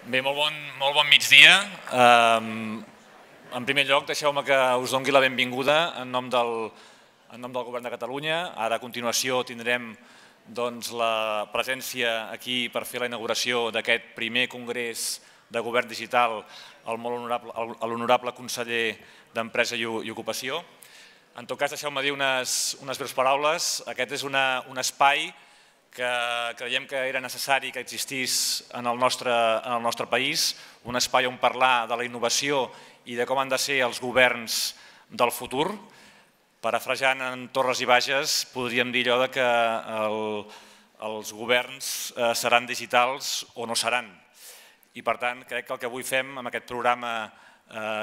Bé, molt bon migdia. En primer lloc, deixeu-me que us doni la benvinguda en nom del Govern de Catalunya. Ara, a continuació, tindrem la presència aquí per fer la inauguració d'aquest primer congrés de govern digital a l'honorable conseller d'Empresa i Ocupació. En tot cas, deixeu-me dir unes breus paraules. Aquest és un espai que creiem que era necessari que existís en el nostre país, un espai on parlar de la innovació i de com han de ser els governs del futur. Parafrasejant en Torres i Bages, podríem dir allò que els governs seran digitals o no seran. I per tant, crec que el que avui fem amb aquest programa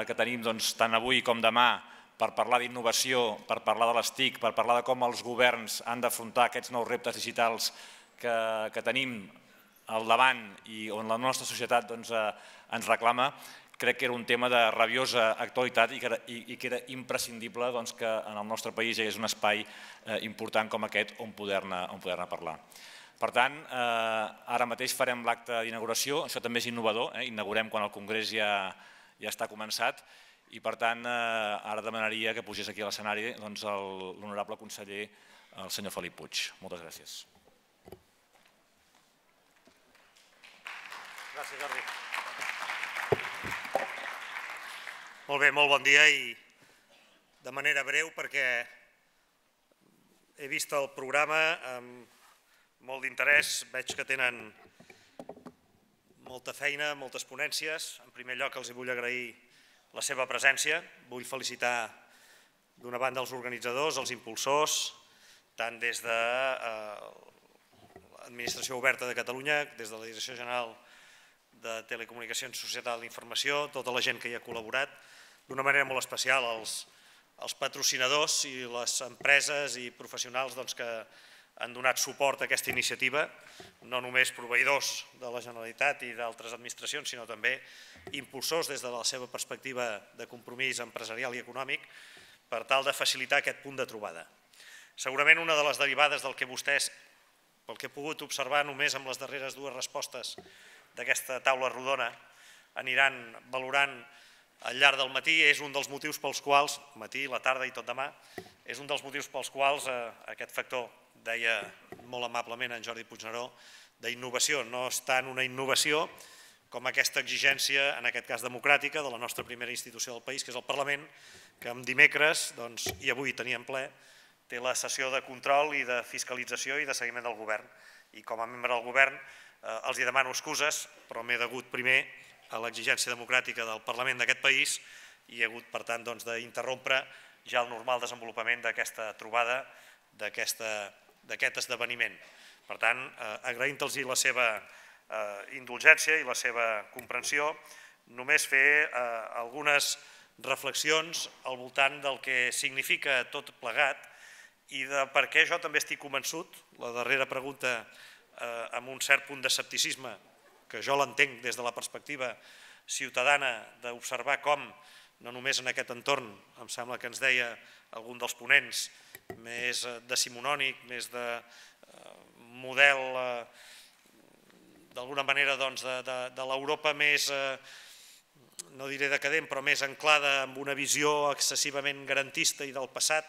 que tenim tant avui com demà per parlar d'innovació, per parlar de les TIC, per parlar de com els governs han d'afrontar aquests nous reptes digitals que tenim al davant i on la nostra societat ens reclama, crec que era un tema de rabiosa actualitat i que era imprescindible que en el nostre país hi hagués un espai important com aquest on poder-ne parlar. Per tant, ara mateix farem l'acte d'inauguració, això també és innovador, inaugurem quan el congrés ja està començat i per tant ara demanaria que pugés aquí a l'escenari l'honorable conseller, el senyor Felip Puig. Moltes gràcies. Gràcies, Jordi. Molt bé, molt bon dia i de manera breu perquè he vist el programa amb molt d'interès, veig que tenen molta feina, moltes ponències. En primer lloc els vull agrair la seva presència. Vull felicitar d'una banda els organitzadors, els impulsors, tant des de l'Administració Oberta de Catalunya, des de la Direcció General de Telecomunicacions i Societat de la Informació, tota la gent que hi ha col·laborat, d'una manera molt especial els patrocinadors i les empreses i professionals que han donat suport a aquesta iniciativa, no només proveïdors de la Generalitat i d'altres administracions, sinó també impulsors des de la seva perspectiva de compromís empresarial i econòmic per tal de facilitar aquest punt de trobada. Segurament una de les derivades del que vostès, pel que he pogut observar només amb les darreres dues respostes d'aquesta taula rodona, aniran valorant al llarg del matí, és un dels motius pels quals, matí, la tarda i tot demà, és un dels motius pels quals aquest factor, deia molt amablement en Jordi Puigneró, d'innovació. No és tant una innovació com aquesta exigència, en aquest cas democràtica, de la nostra primera institució del país, que és el Parlament, que amb dimecres, i avui teníem ple, té la sessió de control i de fiscalització i de seguiment del govern. I com a membre del govern els demano excuses, però m'he degut primer a l'exigència democràtica del Parlament d'aquest país i he hagut, per tant, d'interrompre ja el normal desenvolupament d'aquesta trobada, d'aquest esdeveniment. Per tant, agraint-los la seva indulgència i la seva comprensió, només fer algunes reflexions al voltant del que significa tot plegat i de per què jo també estic convençut, la darrera pregunta amb un cert punt d'escepticisme, que jo l'entenc des de la perspectiva ciutadana d'observar com, no només en aquest entorn, em sembla que ens deia algun dels ponents, més decimonònic, més de model, d'alguna manera, de l'Europa més, no diré decadent, però més anclada amb una visió excessivament garantista i del passat,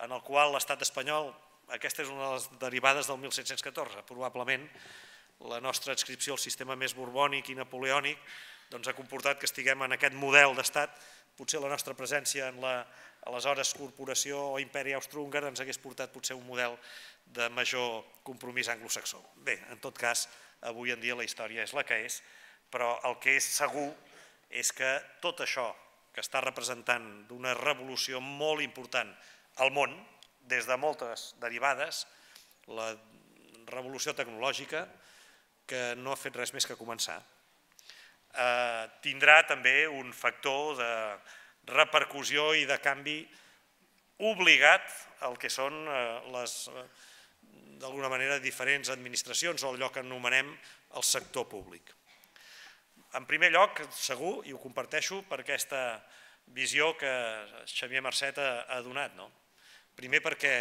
en el qual l'estat espanyol, aquesta és una de les derivades del 1714, probablement la nostra adscripció al sistema més borbònic i napoleònic ha comportat que estiguem en aquest model d'estat. Potser la nostra presència en l'aleshores corporació o imperi austro-húngar ens hagués portat potser un model de major compromís anglosaxó. Bé, en tot cas, avui en dia la història és la que és, però el que és segur és que tot això que està representant d'una revolució molt important al món, des de moltes derivades, la revolució tecnològica, que no ha fet res més que començar, tindrà també un factor de repercussió i de canvi obligat al que són les, d'alguna manera, diferents administracions o allò que anomenem el sector públic. En primer lloc, segur, i ho comparteixo per aquesta visió que Xavier Marcet ha donat, primer perquè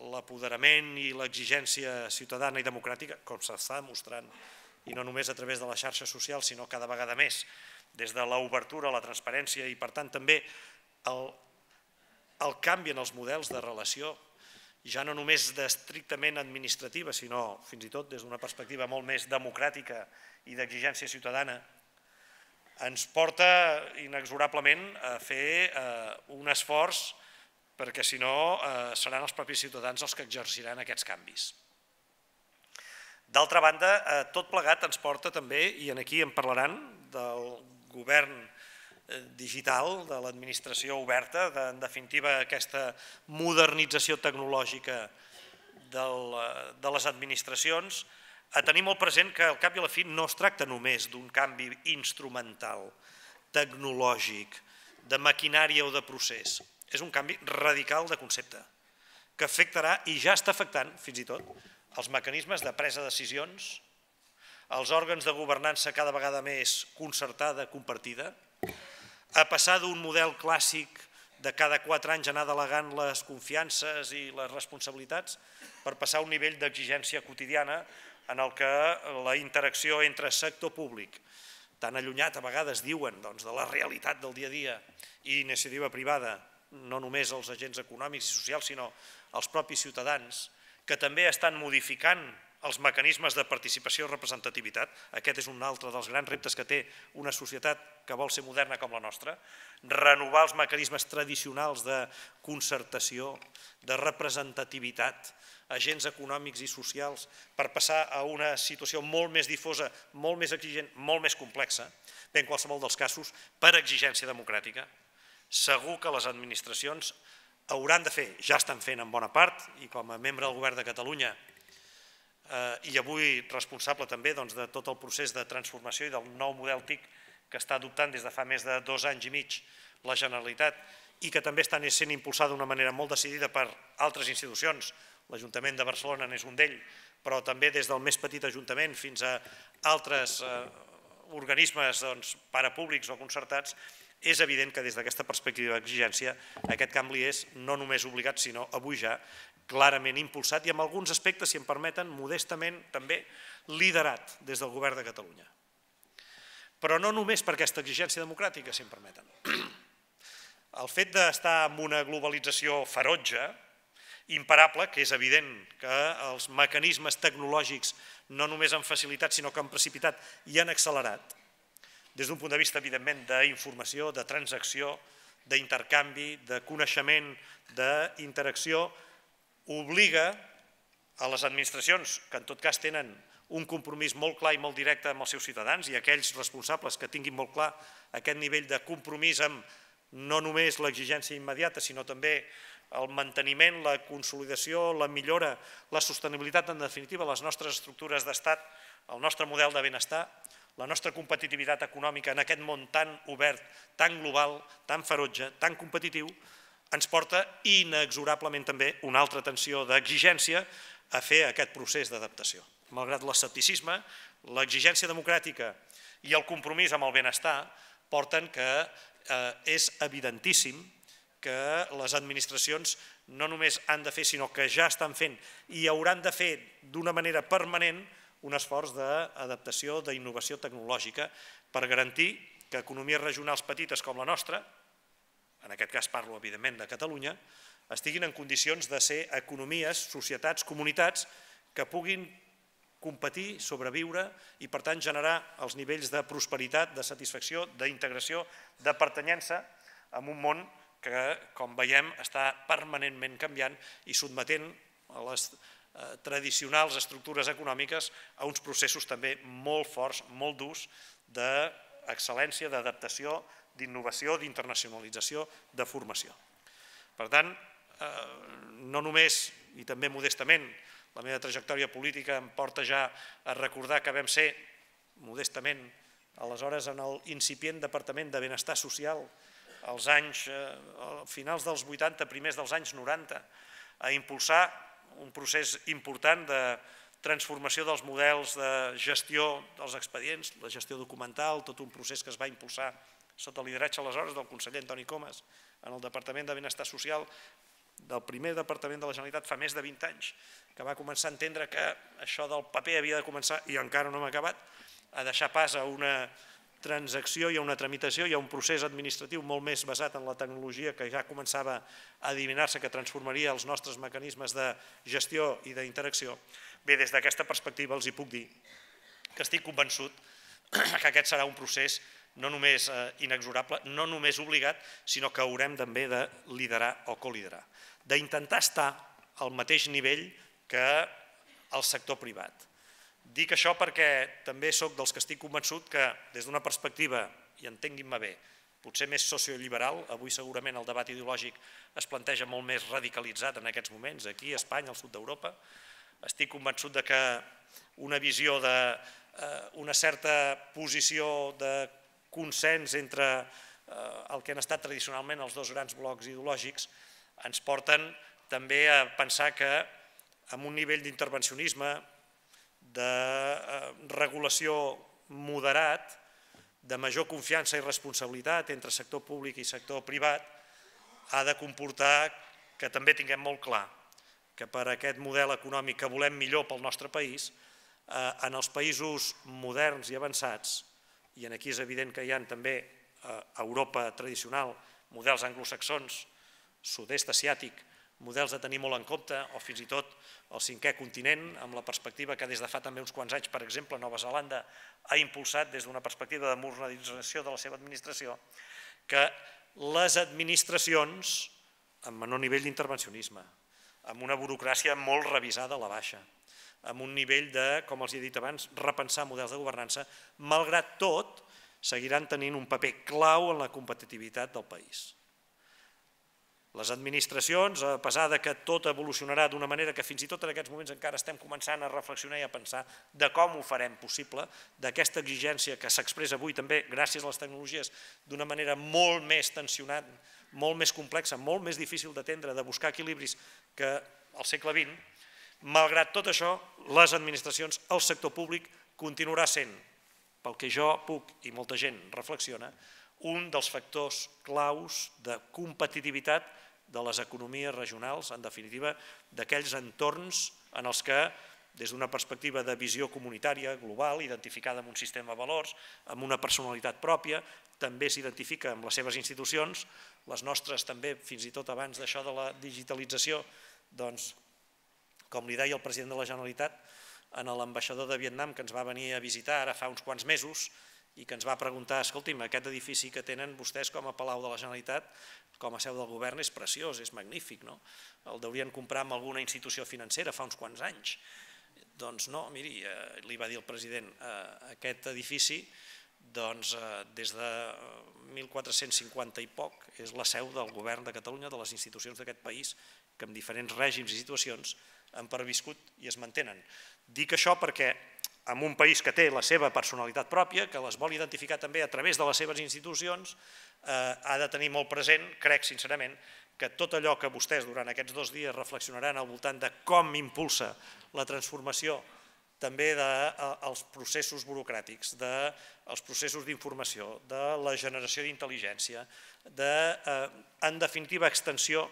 l'apoderament i l'exigència ciutadana i democràtica, com s'està demostrant i no només a través de les xarxes socials, sinó cada vegada més des de l'obertura, la transparència i, per tant, també el canvi en els models de relació, ja no només d'estrictament administrativa, sinó fins i tot des d'una perspectiva molt més democràtica i d'exigència ciutadana, ens porta inexorablement a fer un esforç perquè, si no, seran els propis ciutadans els que exerciran aquests canvis. D'altra banda, tot plegat ens porta també, i aquí en parlaran, del govern digital, de l'administració oberta, en definitiva aquesta modernització tecnològica de les administracions, a tenir molt present que al cap i a la fi no es tracta només d'un canvi instrumental, tecnològic, de maquinària o de procés. És un canvi radical de concepte, que afectarà, i ja està afectant, fins i tot, els mecanismes de presa de decisions, els òrgans de governança cada vegada més concertada, compartida, a passar d'un model clàssic de cada 4 anys anar delegant les confiances i les responsabilitats per passar a un nivell d'exigència quotidiana en el que la interacció entre sector públic, tan allunyat a vegades diuen de la realitat del dia a dia, i iniciativa privada, no només els agents econòmics i socials, sinó els propis ciutadans, que també estan modificant els mecanismes de participació i representativitat. Aquest és un altre dels grans reptes que té una societat que vol ser moderna com la nostra, renovar els mecanismes tradicionals de concertació, de representativitat, agents econòmics i socials, per passar a una situació molt més difosa, molt més exigent, molt més complexa, bé, en qualsevol dels casos, per exigència democràtica. Segur que les administracions hauran de fer, ja estan fent en bona part, i com a membre del Govern de Catalunya, i avui responsable també de tot el procés de transformació i del nou model TIC que està adoptant des de fa més de 2 anys i mig la Generalitat i que també està sent impulsada d'una manera molt decidida per altres institucions, l'Ajuntament de Barcelona n'és un d'ell, però també des del més petit ajuntament fins a altres organismes parapúblics o concertats, és evident que des d'aquesta perspectiva d'exigència aquest canvi és no només obligat, sinó avui ja clarament impulsat i en alguns aspectes, si em permeten, modestament també liderat des del Govern de Catalunya. Però no només per aquesta exigència democràtica, si em permeten. El fet d'estar en una globalització ferotge, imparable, que és evident que els mecanismes tecnològics no només han facilitat, sinó que han precipitat i han accelerat, des d'un punt de vista, evidentment, d'informació, de transacció, d'intercanvi, de coneixement, d'interacció, obliga a les administracions, que en tot cas tenen un compromís molt clar i molt directe amb els seus ciutadans, i aquells responsables que tinguin molt clar aquest nivell de compromís amb no només l'exigència immediata, sinó també el manteniment, la consolidació, la millora, la sostenibilitat, en definitiva, les nostres estructures d'estat, el nostre model de benestar, la nostra competitivitat econòmica en aquest món tan obert, tan global, tan ferotge, tan competitiu, ens porta inexorablement també una altra tensió d'exigència a fer aquest procés d'adaptació. Malgrat l'escepticisme, l'exigència democràtica i el compromís amb el benestar porten que és evidentíssim que les administracions no només han de fer, sinó que ja estan fent i hauran de fer d'una manera permanent un esforç d'adaptació, d'innovació tecnològica per garantir que economies regionals petites com la nostra, en aquest cas parlo evidentment de Catalunya, estiguin en condicions de ser economies, societats, comunitats que puguin competir, sobreviure i per tant generar els nivells de prosperitat, de satisfacció, d'integració, de pertanyença en un món que, com veiem, està permanentment canviant i sotmetent a les tradicionals estructures econòmiques a uns processos també molt forts, molt durs d'excel·lència, d'adaptació, d'innovació, d'internacionalització, de formació. Per tant, no només, i també modestament, la meva trajectòria política em porta ja a recordar que vam ser, modestament, aleshores en l'incipient Departament de Benestar Social, als finals dels 80, primers dels anys 90, a impulsar un procés important de transformació dels models de gestió dels expedients, la gestió documental, tot un procés que es va impulsar sota el lideratge aleshores del conseller Antoni Comas en el Departament de Benestar Social, del primer departament de la Generalitat fa més de 20 anys, que va començar a entendre que això del paper havia de començar, i encara no hem acabat, a deixar pas a una transacció i a una tramitació i a un procés administratiu molt més basat en la tecnologia que ja començava a adivinar-se que transformaria els nostres mecanismes de gestió i d'interacció. Bé, des d'aquesta perspectiva els hi puc dir que estic convençut que aquest serà un procés no només inexorable, no només obligat, sinó que haurem també de liderar o coliderar, d'intentar estar al mateix nivell que el sector privat. Dic això perquè també sóc dels que estic convençut que des d'una perspectiva, i entenguin-me bé, potser més socioliberal, avui segurament el debat ideològic es planteja molt més radicalitzat en aquests moments, aquí, a Espanya, al sud d'Europa, estic convençut que una visió d'una certa posició de consens entre el que han estat tradicionalment els dos grans blocs ideològics ens porten també a pensar que amb un nivell d'intervencionisme, de regulació moderat, de major confiança i responsabilitat entre sector públic i sector privat, ha de comportar que també tinguem molt clar que per aquest model econòmic que volem millor pel nostre país, en els països moderns i avançats, i aquí és evident que hi ha també a Europa tradicional models anglosaxons, sud-est asiàtic, models a tenir molt en compte, o fins i tot el cinquè continent, amb la perspectiva que des de fa també uns quants anys, per exemple, Nova Zelanda ha impulsat des d'una perspectiva de modernització de la seva administració, que les administracions, amb menor nivell d'intervencionisme, amb una burocràcia molt revisada a la baixa, amb un nivell de, com els he dit abans, repensar models de governança, malgrat tot, seguiran tenint un paper clau en la competitivitat del país. Les administracions, a pesar que tot evolucionarà d'una manera que fins i tot en aquests moments encara estem començant a reflexionar i a pensar de com ho farem possible, d'aquesta exigència que s'expressa avui també gràcies a les tecnologies d'una manera molt més tensionada, molt més complexa, molt més difícil d'atendre, de buscar equilibris que al segle XX, malgrat tot això, les administracions, el sector públic, continuarà sent, pel que jo puc i molta gent reflexiona, un dels factors claus de competitivitat de les economies regionals, en definitiva, d'aquells entorns en els que, des d'una perspectiva de visió comunitària, global, identificada amb un sistema de valors, amb una personalitat pròpia, també s'identifica amb les seves institucions, les nostres també, fins i tot abans d'això de la digitalització, doncs, com li deia el president de la Generalitat, a l'ambaixador de Vietnam que ens va venir a visitar ara fa uns quants mesos i que ens va preguntar, escolti'm, aquest edifici que tenen vostès com a Palau de la Generalitat, com a seu del govern, és preciós, és magnífic, no? El deurien comprar amb alguna institució financera fa uns quants anys. Doncs no, miri, li va dir el president, aquest edifici, doncs des de 1450 i poc, és la seu del govern de Catalunya, de les institucions d'aquest país, que en diferents règims i situacions han perviscut i es mantenen. Dic això perquè en un país que té la seva personalitat pròpia, que les vol identificar també a través de les seves institucions, ha de tenir molt present, crec sincerament, que tot allò que vostès durant aquests 2 dies reflexionaran al voltant de com impulsa la transformació també dels processos burocràtics, dels processos d'informació, de la generació d'intel·ligència, en definitiva, extensió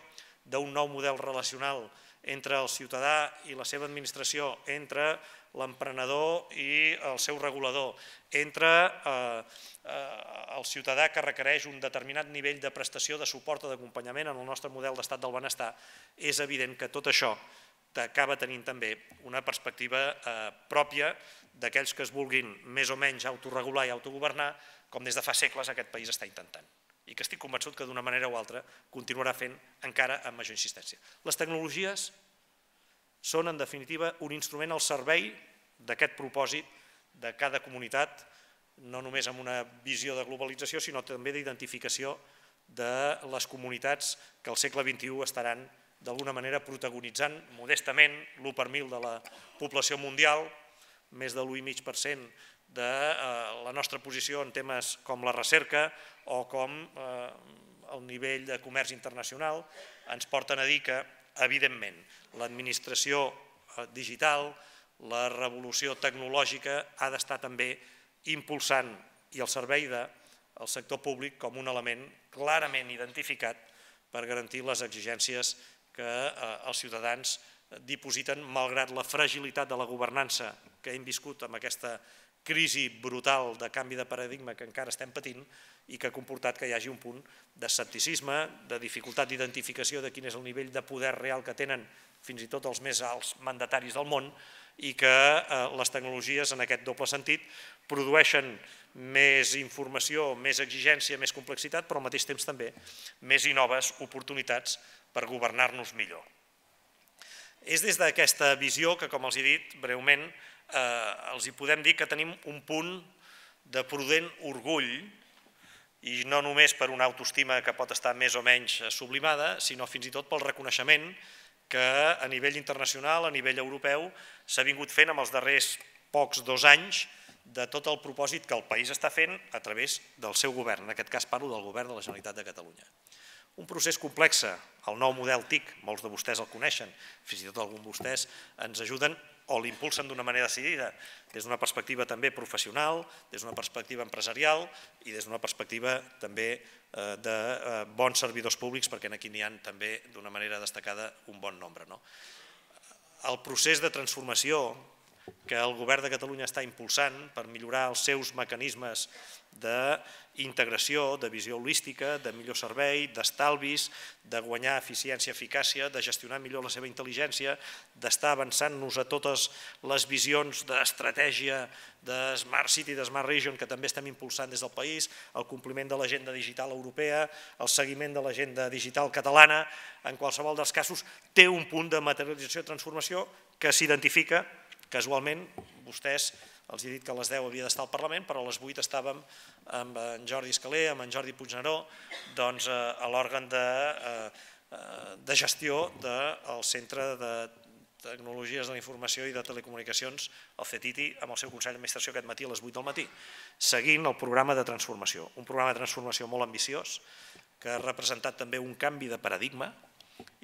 d'un nou model relacional entre el ciutadà i la seva administració, entre l'emprenedor i el seu regulador, entre el ciutadà que requereix un determinat nivell de prestació, de suport o d'acompanyament en el nostre model d'estat del benestar, és evident que tot això acaba tenint també una perspectiva pròpia d'aquells que es vulguin més o menys autoregular i autogovernar, com des de fa segles aquest país està intentant, i que estic convençut que d'una manera o altra continuarà fent encara amb major insistència. Les tecnologies són, en definitiva, un instrument al servei d'aquest propòsit de cada comunitat, no només amb una visió de globalització, sinó també d'identificació de les comunitats que al segle XXI estaran d'alguna manera protagonitzant modestament l'1 per 1000 de la població mundial, més de l'1,5% de la nostra posició en temes com la recerca o com el nivell de comerç internacional, ens porten a dir que, evidentment, l'administració digital, la revolució tecnològica ha d'estar també impulsant i al servei del sector públic com un element clarament identificat per garantir les exigències que els ciutadans dipositen malgrat la fragilitat de la governança que hem viscut amb aquesta crisi brutal de canvi de paradigma que encara estem patint i que ha comportat que hi hagi un punt d'escepticisme, de dificultat d'identificació de quin és el nivell de poder real que tenen fins i tot els més alts mandataris del món i que les tecnologies en aquest doble sentit produeixen més informació, més exigència, més complexitat, però al mateix temps també més i noves oportunitats per governar-nos millor. És des d'aquesta visió que, com els he dit breument, els hi podem dir que tenim un punt de prudent orgull i no només per una autoestima que pot estar més o menys sublimada, sinó fins i tot pel reconeixement que a nivell internacional, a nivell europeu, s'ha vingut fent en els darrers pocs 2 anys de tot el propòsit que el país està fent a través del seu govern. En aquest cas parlo del govern de la Generalitat de Catalunya. Un procés complex, el nou model TIC, molts de vostès el coneixen, fins i tot alguns de vostès ens ajuden o l'impulsen d'una manera decidida, des d'una perspectiva també professional, des d'una perspectiva empresarial i des d'una perspectiva també de bons servidors públics, perquè aquí n'hi ha també d'una manera destacada un bon nombre. El procés de transformació que el govern de Catalunya està impulsant per millorar els seus mecanismes d'integració, de visió holística, de millor servei, d'estalvis, de guanyar eficiència, eficàcia, de gestionar millor la seva intel·ligència, d'estar avançant-nos a totes les visions d'estratègia de Smart City, de Smart Region, que també estem impulsant des del país, el compliment de l'agenda digital europea, el seguiment de l'agenda digital catalana, en qualsevol dels casos té un punt de materialització i transformació que s'identifica. Casualment, vostès, els he dit que a les 10 havia d'estar al Parlament, però a les 8 estàvem amb en Jordi Escalé, amb en Jordi Puigneró, a l'òrgan de gestió del Centre de Tecnologies de la Informació i de Telecomunicacions, el CETITI, amb el seu Consell d'Administració aquest matí a les 8 del matí, seguint el programa de transformació. Un programa de transformació molt ambiciós, que ha representat també un canvi de paradigma,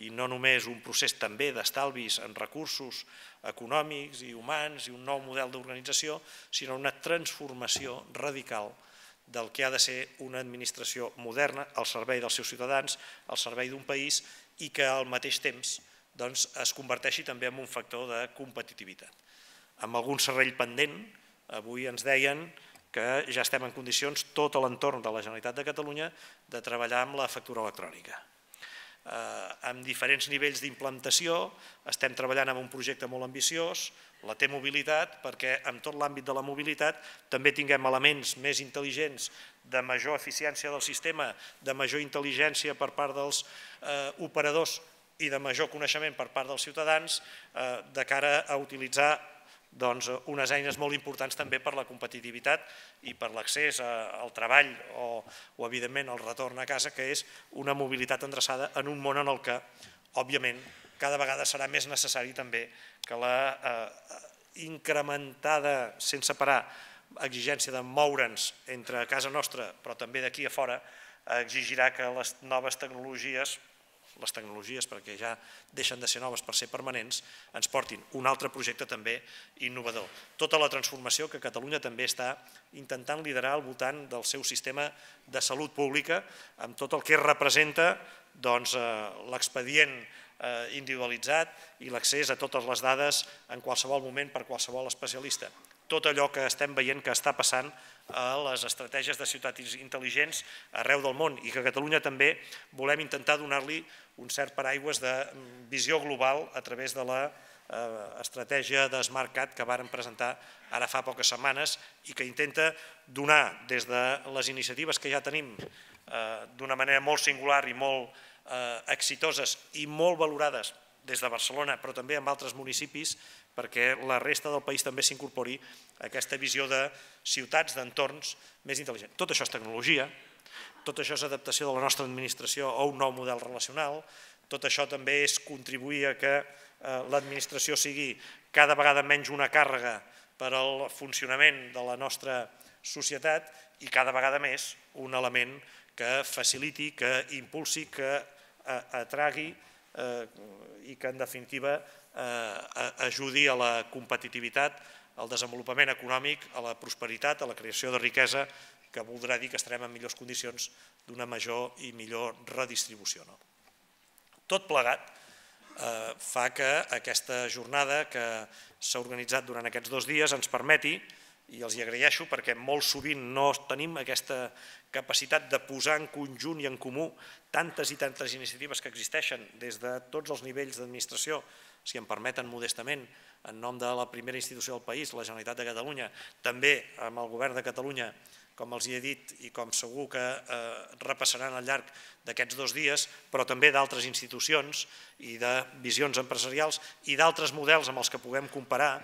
i no només un procés també d'estalvis en recursos econòmics i humans i un nou model d'organització, sinó una transformació radical del que ha de ser una administració moderna al servei dels seus ciutadans, al servei d'un país i que al mateix temps es converteixi també en un factor de competitivitat. Amb algun serrell pendent, avui ens deien que ja estem en condicions, tot l'entorn de la Generalitat de Catalunya, de treballar amb la factura electrònica. Amb diferents nivells d'implantació, estem treballant en un projecte molt ambiciós, la T-Mobilitat, perquè en tot l'àmbit de la mobilitat també tinguem elements més intel·ligents, de major eficiència del sistema, de major intel·ligència per part dels operadors i de major coneixement per part dels ciutadans, de cara a utilitzar unes eines molt importants també per la competitivitat i per l'accés al treball o evidentment al retorn a casa, que és una mobilitat endreçada en un món en el que, òbviament, cada vegada serà més necessari també que la incrementada, sense parar, exigència de moure'ns entre casa nostra, però també d'aquí a fora, exigirà que les noves tecnologies, perquè ja deixen de ser noves per ser permanents, ens portin un altre projecte també innovador. Tota la transformació que Catalunya també està intentant liderar al voltant del seu sistema de salut pública, amb tot el que representa l'expedient individualitzat i l'accés a totes les dades en qualsevol moment per qualsevol especialista. Tot allò que estem veient que està passant a les estratègies de ciutats intel·ligents arreu del món i que a Catalunya també volem intentar donar-li un cert paraigües de visió global a través de l'estratègia de SmartCat que varen presentar ara fa poques setmanes i que intenta donar des de les iniciatives que ja tenim d'una manera molt singular i molt exitoses i molt valorades des de Barcelona, però també en altres municipis, perquè la resta del país també s'incorpori a aquesta visió de ciutats, d'entorns més intel·ligents. Tot això és tecnologia, tot això és adaptació de la nostra administració a un nou model relacional, tot això també és contribuir a que l'administració sigui cada vegada menys una càrrega per al funcionament de la nostra societat i cada vegada més un element que faciliti, que impulsi, que atragui i que en definitiva ajudi a la competitivitat, al desenvolupament econòmic, a la prosperitat, a la creació de riquesa, que voldrà dir que estarem en millors condicions d'una major i millor redistribució. Tot plegat fa que aquesta jornada que s'ha organitzat durant aquests 2 dies ens permeti, i els hi agraeixo perquè molt sovint no tenim aquesta capacitat de posar en conjunt i en comú tantes i tantes iniciatives que existeixen des de tots els nivells d'administració, si em permeten modestament, en nom de la primera institució del país, la Generalitat de Catalunya, també amb el Govern de Catalunya, com els he dit i com segur que repassaran al llarg d'aquests 2 dies, però també d'altres institucions i de visions empresarials i d'altres models amb els que puguem comparar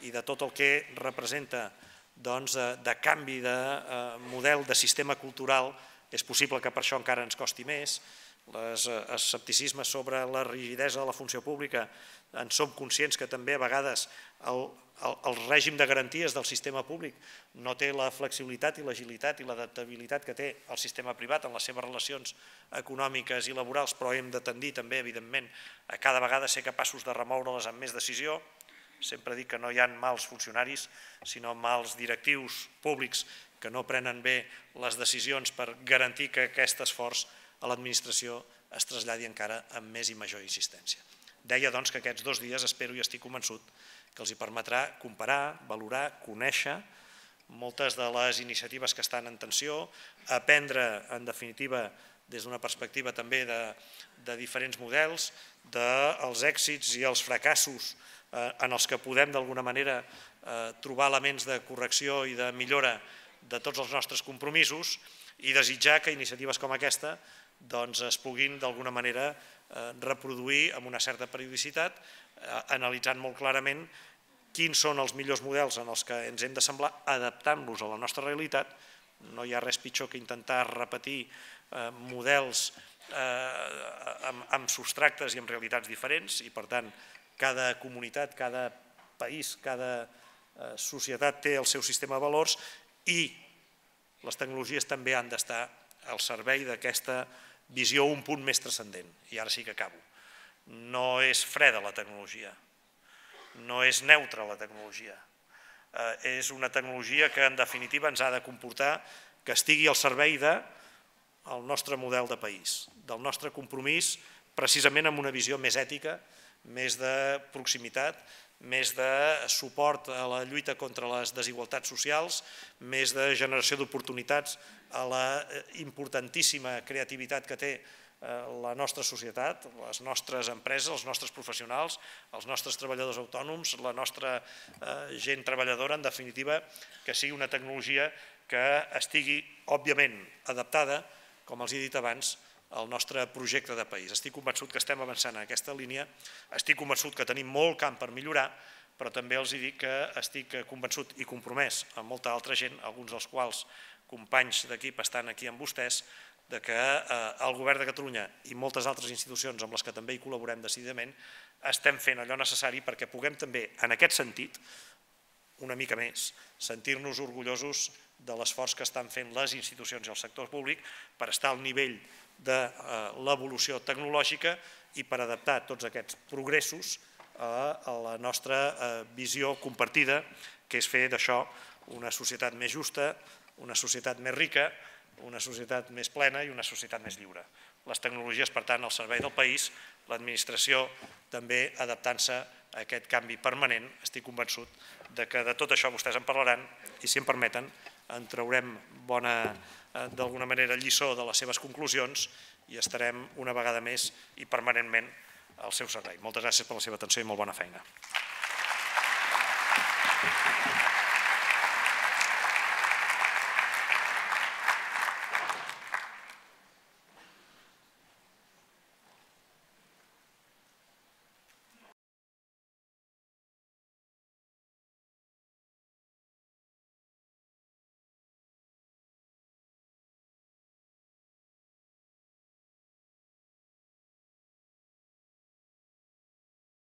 i de tot el que representa de canvi de model de sistema cultural. És possible que per això encara ens costi més. L'escepticisme sobre la rigidesa de la funció pública, en som conscients que també a vegades el règim de garanties del sistema públic no té la flexibilitat i l'agilitat i l'adaptabilitat que té el sistema privat en les seves relacions econòmiques i laborals, però hem de tendir també, evidentment, a cada vegada ser capaços de remoure-les amb més decisió. Sempre dic que no hi ha mals funcionaris, sinó mals directius públics que no prenen bé les decisions per garantir que aquest esforç a l'administració es traslladi encara amb més i major insistència. Deia, doncs, que aquests 2 dies espero i estic convençut que els hi permetrà comparar, valorar, conèixer moltes de les iniciatives que estan en tensió, aprendre, en definitiva, des d'una perspectiva també de diferents models, dels èxits i els fracassos en els que podem d'alguna manera trobar elements de correcció i de millora de tots els nostres compromisos i desitjar que iniciatives com aquesta es puguin d'alguna manera reproduir amb una certa periodicitat, analitzant molt clarament quins són els millors models en els que ens hem d'assemblar, adaptant-los a la nostra realitat. No hi ha res pitjor que intentar repetir models amb substractes i amb realitats diferents i, per tant, cada comunitat, cada país, cada societat té el seu sistema de valors i les tecnologies també han d'estar al servei d'aquesta visió un punt més transcendent. I ara sí que acabo. No és freda la tecnologia, no és neutra la tecnologia. És una tecnologia que en definitiva ens ha de comportar que estigui al servei del nostre model de país, del nostre compromís precisament amb una visió més ètica, més de proximitat, més de suport a la lluita contra les desigualtats socials, més de generació d'oportunitats a la importantíssima creativitat que té la nostra societat, les nostres empreses, els nostres professionals, els nostres treballadors autònoms, la nostra gent treballadora, en definitiva, que sigui una tecnologia que estigui, òbviament, adaptada, com els he dit abans, al nostre projecte de país. Estic convençut que estem avançant en aquesta línia, estic convençut que tenim molt camp per millorar, però també els dic que estic convençut i compromès amb molta altra gent, alguns dels quals companys d'equip estan aquí amb vostès, que el Govern de Catalunya i moltes altres institucions amb les que també hi col·laborem decididament estem fent allò necessari perquè puguem també, en aquest sentit, una mica més, sentir-nos orgullosos de l'esforç que estan fent les institucions i el sector públic per estar al nivell de l'evolució tecnològica i per adaptar tots aquests progressos a la nostra visió compartida, que és fer d'això una societat més justa, una societat més rica, una societat més plena i una societat més lliure. Les tecnologies, per tant, al servei del país, l'administració també adaptant-se a aquest canvi permanent. Estic convençut que de tot això vostès en parlaran i, si em permeten, en traurem bona, d'alguna manera, lliçó de les seves conclusions i estarem una vegada més i permanentment al seu servei. Moltes gràcies per la seva atenció i molt bona feina.